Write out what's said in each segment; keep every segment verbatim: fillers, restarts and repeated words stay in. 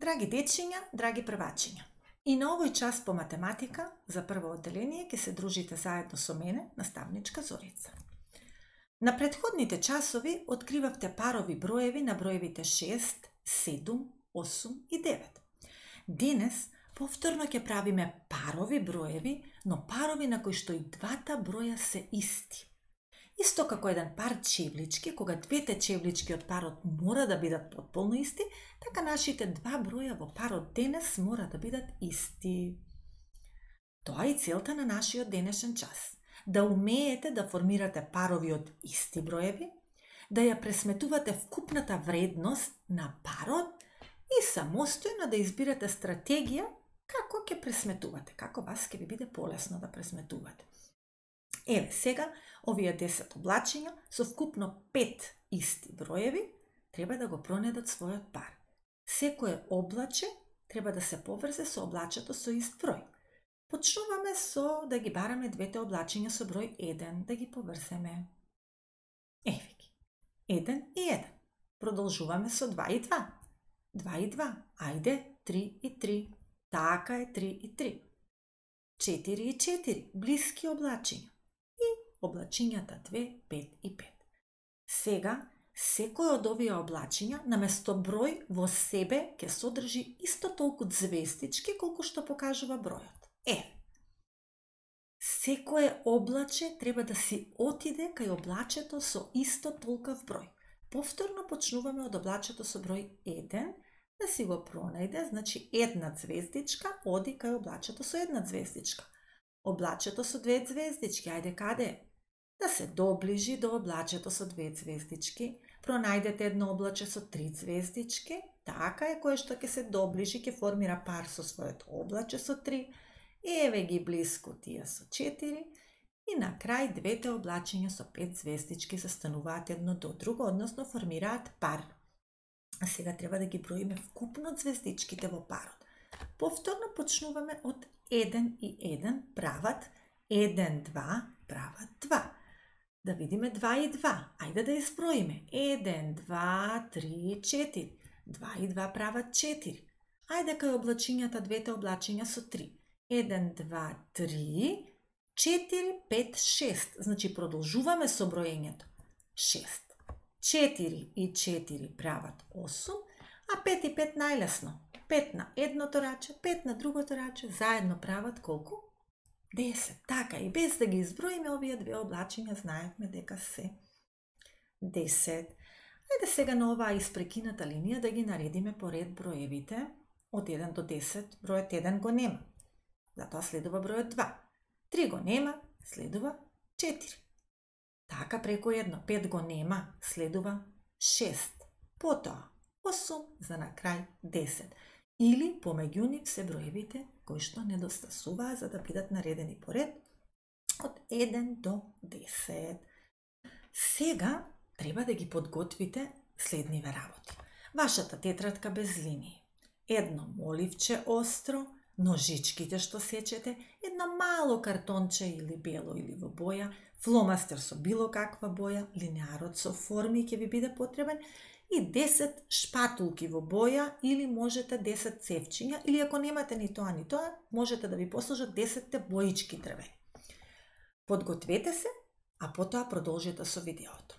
Драги дечиња, драги првачиња, и на овој час по математика за прво одделение ќе се дружите заедно со мене, наставничка Зорица. На претходните часови откривавте парови броеви на броевите шест, седум, осум и девет. Денес повторно ќе правиме парови броеви, но парови на кои што и двата броја се исти. Исто како еден пар чевлички, кога двете чевлички од парот мора да бидат потполно исти, така нашите два броја во парот денес мора да бидат исти. Тоа е целта на нашиот денешен час. Да умеете да формирате парови од исти броеви, да ја пресметувате вкупната вредност на парот и самостојно да избирате стратегија како ќе пресметувате, како вас ќе ви биде полесно да пресметувате. Еве сега, овие десет облачиња со вкупно пет исти броеви треба да го пронедат својот пар. Секое облаче треба да се поврзе со облачето со ист број. Почнуваме со да ги бараме двете облачиња со број еден, да ги поврземе. Еве ги. еден и еден. Продолжуваме со два и два. два и два. Ајде, три и три. Така е, три и три. четири и четири. Блиски облачиња. Облачињата две, пет и пет. Сега, секој од овие облачиња наместо број во себе ќе содржи исто толку звездички колку што покажува бројот. Е, секое облаче треба да си отиде кај облачето со исто толков број. Повторно почнуваме од облачето со број еден, да си го пронајде, значи една звездичка оди кај облачето со една звездичка. Облачето со две звездички, ајде каде е? Да се доближи до облачето со две звездички, пронајдете едно облаче со три звездички, така е, кое што ќе се доближи, ќе формира пар со своето облаче со три, еве ги блиску тие со четири, и на крај двете облачиња со пет звездички застануваат едно до друго, односно формираат пар. А сега треба да ги броиме вкупно звездичките во парот. Повторно почнуваме од еден и еден прават еден, два, прават два. Да видиме два и два. Ајде да изброиме. еден, два, три, четири. два и два прават четири. Ајде кај облачињата двете облачиња со три. еден, два, три, четири, пет, шест. Значи продолжуваме со броењето. шест. четири и четири прават осум, а пет и пет најлесно. пет на едното раче, пет на другото раче, заедно прават колку? десет. Така, и без да ги изброиме овие две облачиња, знаевме дека се десет. Ајде сега на оваа испрекината линија да ги наредиме по ред броевите од еден до десет. Бројот еден го нема. Затоа следува бројот два. три го нема, следува четири. Така преку едно. пет го нема, следува шест. Потоа осум, за на крај десет. Или помеѓу нив се броевите кои што недостасуваа за да бидат наредени по ред од еден до десет. Сега треба да ги подготвите следниве работи. Вашата тетрадка без линии, едно моливче остро, ножичките што сечете, едно мало картонче или бело или во боја, фломастер со било каква боја, линеарот со форми ќе ви биде потребен, и десет шпатулки во боја или можете десет цевчиња, или ако немате ни тоа ни тоа, можете да ви послужат десетте боички дрвени. Подгответе се, а потоа продолжете со видеото.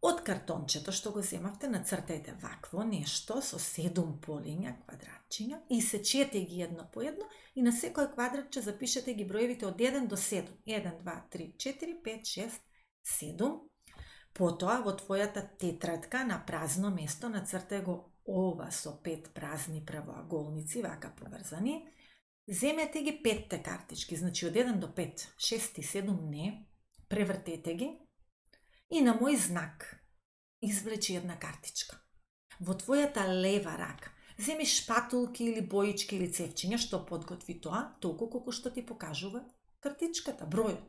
Од картончето што го земавте, нацртајте вакво нешто со седум полиња, квадратчиња, и сечете ги едно по едно и на секој квадратче запишете ги броевите од еден до седум. еден, два, три, четири, пет, шест, седум. Потоа во твојата тетрадка на празно место нацртај го ова со пет празни правоаголници, вака поврзани. Земете ги петте картички, значи од еден до пет, шест и седум не, превртете ги и на мој знак извлечи една картичка. Во твојата лева рака земи шпатулки или боички или цевчиња, што подготви тоа, толку колку што ти покажува картичката, бројот.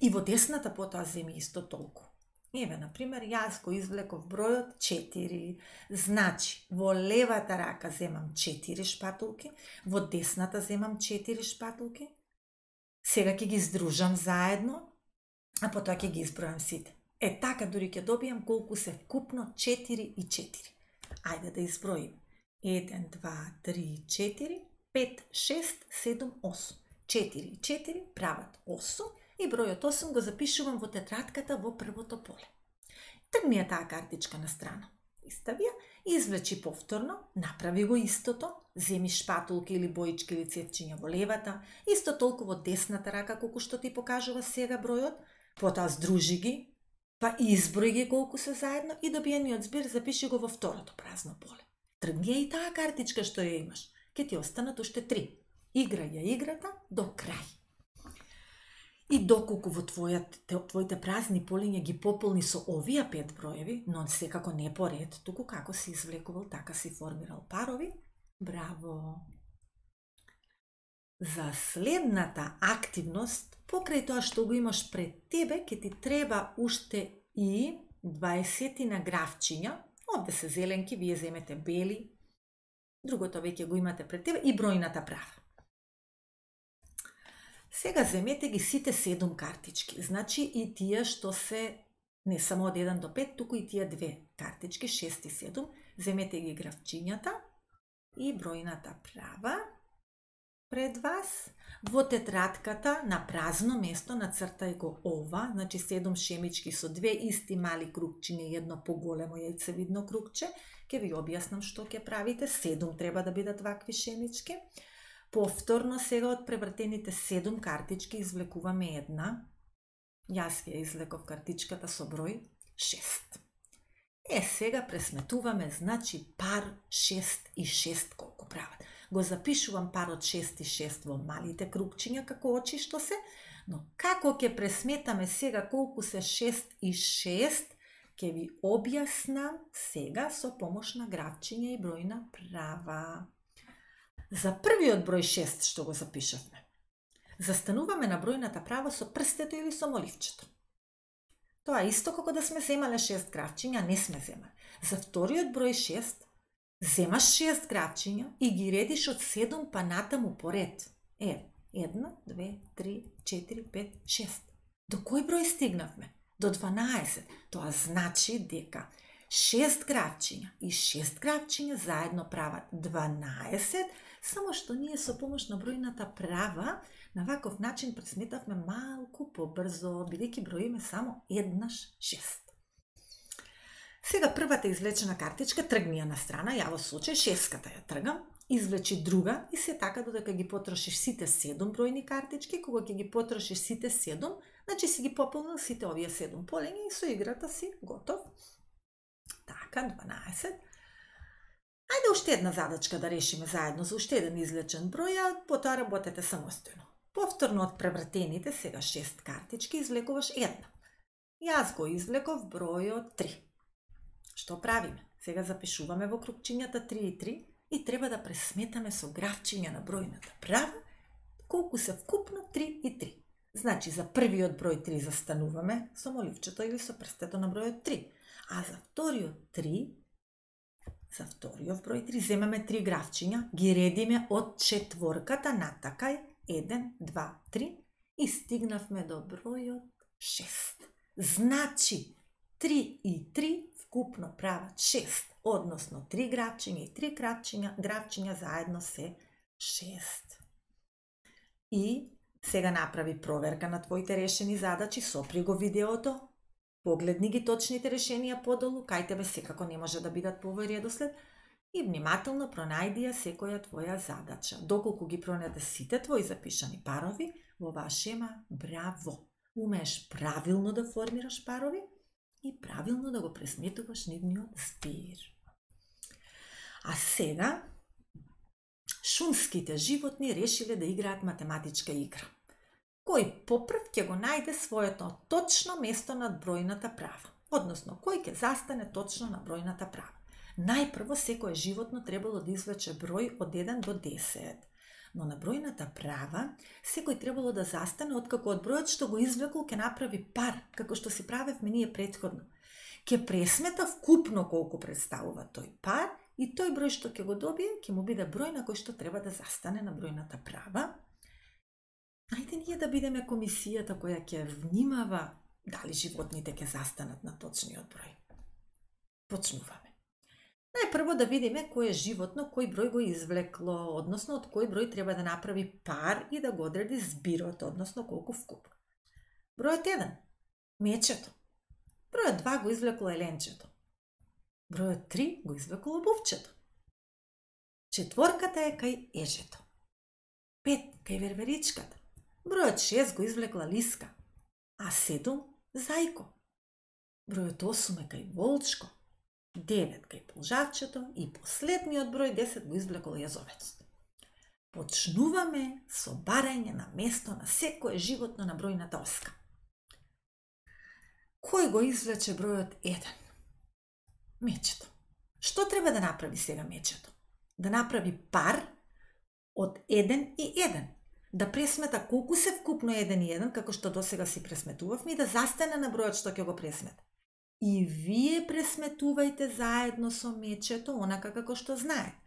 И во десната потоа земи исто толку. Еве, например, јас го извлеков бројот четири. Значи, во левата рака земам четири шпатулки, во десната земам четири шпатулки. Сега ќе ги здружам заедно, а потоа ќе ги избројам сите. Е, така дури ќе добијам колку се вкупно четири и четири. Ајде да изброиме. еден, два, три, четири, пет, шест, седум, осум. четири и четири прават осум и бројот осум го запишувам во тетратката во првото поле. Тргни ја таа картичка на страна. Истави ја, извлечи повторно, направи го истото, земи шпатулки или боички или цевчиња во левата, исто толку во десната рака колку што ти покажува сега бројот, потоа здружи ги, па изброј ги колку се заедно и добиениот збир запиши го во второто празно поле. Тргни ја и таа картичка што ја имаш. Ке ти останат уште три. Играј ја играта до крај. И доколку во твојат, твоите празни полиња ги пополни со овие пет броеви, но секако не по ред, туку како си извлекувал, така си формирал парови, браво! За следната активност, покрај тоа што го имаш пред тебе, ке ти треба уште и дваесетина графчиња, овде се зеленки, вие земете бели, другото веќе го имате пред тебе, и бројната права. Сега земете ги сите седум картички, значи и тие што се не само од еден до пет, туку и тие две картички, шест и седум, земете ги графчињата и бројната права пред вас. Во тетратката на празно место нацртај го ова, значи седум шемички со две исти мали кругчиња и едно поголемо јајцевидно кругче. Ке ви објаснам што ќе правите, седум треба да бидат вакви шемички. Повторно сега од превртените седум картички извлекуваме една. Јас ја извлеков картичката со број шест. Е, сега пресметуваме, значи пар шест и шест колку прават. Го запишувам парот шест и шест во малите кругчиња како очи што се, но како ќе пресметаме сега колку се шест и шест, ќе ви објаснам сега со помош на графчиња и бројна права. За првиот број шест што го запишавме, застануваме на бројната права со прстето или со моливчето. Тоа исто како да сме земале шест графчиња, не сме земале. За вториот број шест, земаш шест графчиња и ги редиш од седум па натаму по ред. Е, едно, две, три, четири, пет, шест. До кој број стигнавме? До дванаесет. Тоа значи дека шест графчиња и шест графчиња заедно прават дванаесет, само што ние со помош на бројната права на ваков начин пресметавме малку побрзо, бидејќи броиме само еднаш шест. Сега првата извлечена картичка тргни ја на страна, ја во случај шестката ја тргам, извлечи друга и се така додека ги потрошиш сите седум бројни картички, кога ќе ги потрошиш сите седум, значи си ги пополнил сите овие седум полиња и со играта си готов. Така, дванаесет. Ајде уште една задачка да решиме заедно за уште еден извлечен број, а потоа работете самостојно. Повторно од превртените, сега шест картички, извлекуваш една. Јас го извлеков бројот три. Што правиме? Сега запишуваме во кругчињата три и три и треба да пресметаме со графчиња на бројната права колку се вкупно три и три. Значи за првиот број три застануваме со моливчето или со прстето на бројот три. А за вториот три, за вториот број три, земаме три графчиња, ги редиме од четворката натакај, еден, два, три и стигнавме до бројот шест. Значи, три и три вкупно прават шест, односно три графчиња и три графчиња, графчиња заедно се шест. И сега направи проверка на твоите решени задачи, сопри го видеото, погледни ги точните решенија подолу, кај тебе секако не може да бидат по овој редослед и внимателно пронајди ја секоја твоја задача. Доколку ги пронајде сите твои запишани парови, во оваа шема, браво! Умееш правилно да формираш парови и правилно да го пресметуваш нивниот збир. А сега, шумските животни решиле да играат математичка игра. Кој попрв ќе го најде своето точно место над бројната права, односно кој ќе застане точно на бројната права. Најпрво секое животно требало да извлече број од еден до десет, но на бројната права секој требало да застане откако од бројот што го извлекол ќе направи пар, како што си правевме ние претходно. Ќе пресмета вкупно колку представува тој пар и тој број што ќе го добие ќе му биде број на кој што треба да застане на бројната права. Ајде ние да бидеме комисијата која ќе внимава дали животните ќе застанат на точниот број. Почнуваме. Најпрво да видиме кој е животно, кој број го извлекло, односно од кој број треба да направи пар и да го одреди збирот, односно колку вкуп. Бројот еден, мечето. Бројот два го извлекло еленчето. Бројот три го извлекло обувчето. Четворката е кај ежето. Пет кај верверичката. Бројот шест го извлекла лиска, а седум зајко. Бројот осум е кај волчко, девет кај полжавчето и последниот број десет го извлекол јазовецот. Почнуваме со барање на место на секое животно на бројната оска. Кој го извлече бројот еден? Мечето. Што треба да направи сега мечето? Да направи пар од еден и еден. Да пресмета колку се вкупно еден и еден, како што досега си пресметувавме, и да застане на бројот што ќе го пресмета. И вие пресметувајте заедно со мечето, онака како што знаете.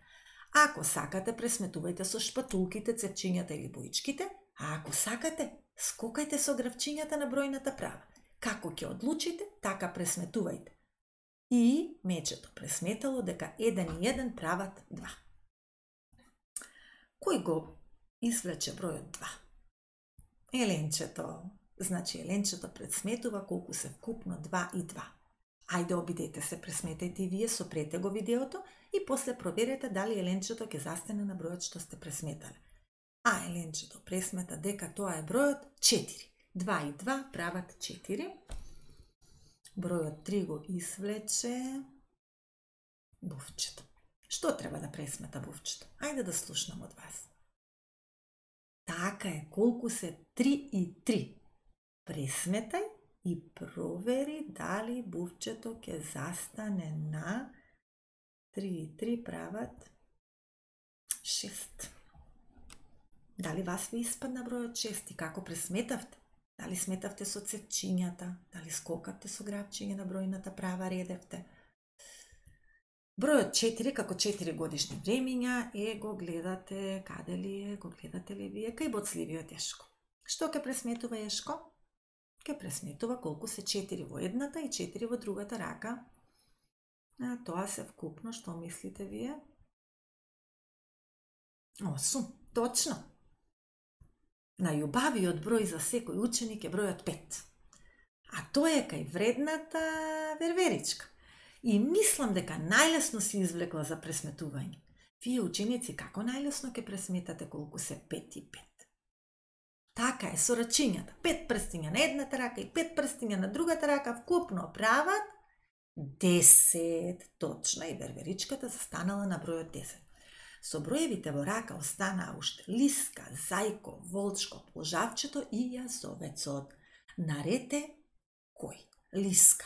Ако сакате, пресметувајте со шпатулките, цевчињата или боичките, а ако сакате, скокајте со гравчињата на бројната права. Како ќе одлучите, така пресметувајте. И мечето пресметало дека еден и еден прават два. Кој го извлече бројот два? Еленчето. Значи, еленчето пресметува колку се вкупно два и два. Ајде, обидете се, пресметајте и вие, сопрете го видеото и после проверете дали еленчето ќе застане на бројот што сте пресметале. А еленчето пресмета дека тоа е бројот четири. два и два прават четири. Бројот три го извлече бувчето. Што треба да пресмета бувчето? Ајде да слушнам од вас. Така е, колку се три и три. Пресметај и провери дали бувчето ќе застане на три и три прават шест. Дали вас ви испадна бројот шест и како пресметавте? Дали сметавте со цевчињата? Дали скокавте со грабчиње на бројната права, редевте? Бројот четири, како четири годишни времиња, е, го гледате, каде ли е, го гледате ли вие, кај боцливиот Ешко. Што ќе пресметува Ешко? Ќе пресметува колку се четири во едната и четири во другата рака. А тоа се вкупно, што мислите вие? осум, точно. Најубавиот број за секој ученик е бројот пет. А тој е кај вредната верверичка. И мислам дека најлесно си извлекла за пресметување. Вие ученици како најлесно ќе пресметате колку се пет и пет? Така е, со рачињата. пет прстиња на едната рака и пет прстиња на другата рака вкупно прават десет. Точно, и верверичката застанала на бројот десет. Со броевите во рака останаа уште лиска, зајко, волчко, полжавчето и јазовецот. Наред е кој? Лиска.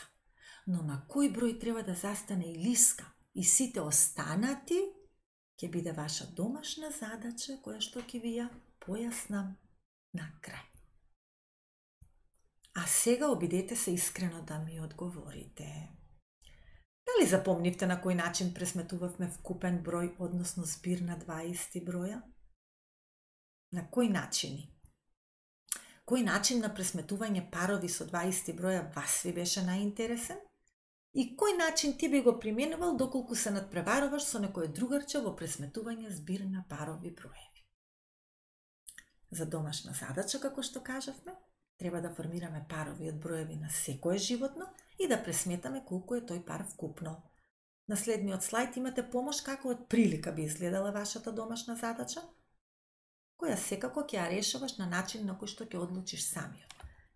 Но на кој број треба да застане и лиска и сите останати, ќе биде ваша домашна задача, која што ќе ви ја појаснам на крај. А сега обидете се искрено да ми одговорите. Дали запомнивте на кој начин пресметувавме вкупен број, односно збир на два исти броја? На кој начини? Кој начин на пресметување парови со два исти броја вас ви беше најинтересен? И кој начин ти би го применувал доколку се надпреваруваш со некој другарче во пресметување збир на парови броеви? За домашна задача, како што кажавме, треба да формираме парови од броеви на секое животно и да пресметаме колку е тој пар вкупно. На следниот слајд имате помош како од прилика би изгледала вашата домашна задача, која секако ќе ја решаваш на начин на кој што ќе одлучиш самиот.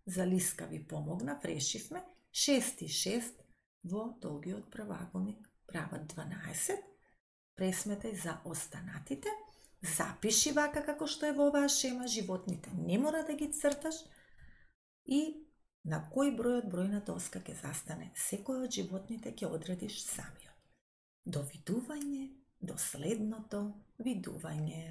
За лиска ви помогнав, решивме шест и шест во долгиот правоаголник прават дванаесет. Пресметај за останатите, запиши вака како што е во оваа шема, животните не мора да ги црташ, и на кој број од бројната оска ќе застане секој од животните ќе одредиш самиот. До видување, до следното видување.